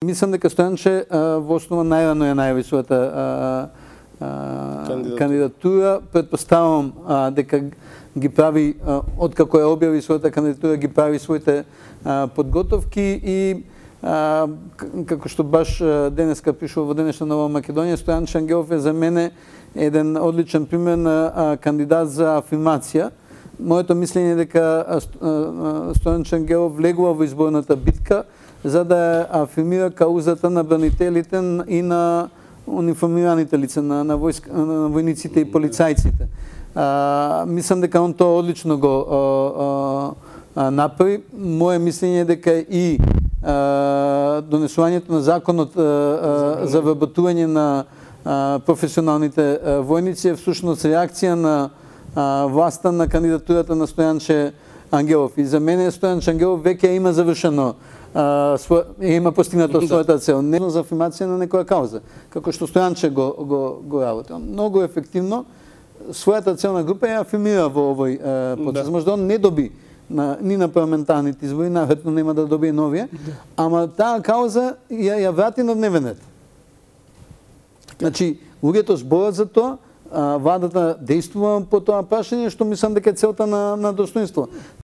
Мислам дека Стојанче во основа најрано ја најави својата кандидатура. Претпоставам дека ги прави, откако ја објави својата кандидатура, ги прави своите подготовки и како што баш денеска пишува во денешна Нова Македонија, Стојанче Ангелов е за мене еден одличен пример на кандидат за афирмација. Моето мислење е дека Стојанче Ангелов влегува во изборната битка за да афирмира каузата на бранителите и на униформираните лица, на војниците и полицајците. Мислам дека он тоа одлично го направи. Моje мислење е дека и донесувањето на законот за вработување на професионалните војници е всушност реакција на власта на кандидатурата на Стојанче Ангелов. И за мене Стојанче Ангелов веќе има завршено, има постигнато својата цел. Не за афирмација на некоја кауза, како што Стојанче го работи. Многу ефективно својата целна група ја афирмира во овој процес. Можда он не доби ни на парламентарните избори, наверно нема да добие новија, ама таа кауза ја врати на дневен ред. Значи, луѓето зборат за тоа, владата действува по тоа прашање, што мислам дека е целта на достоинство.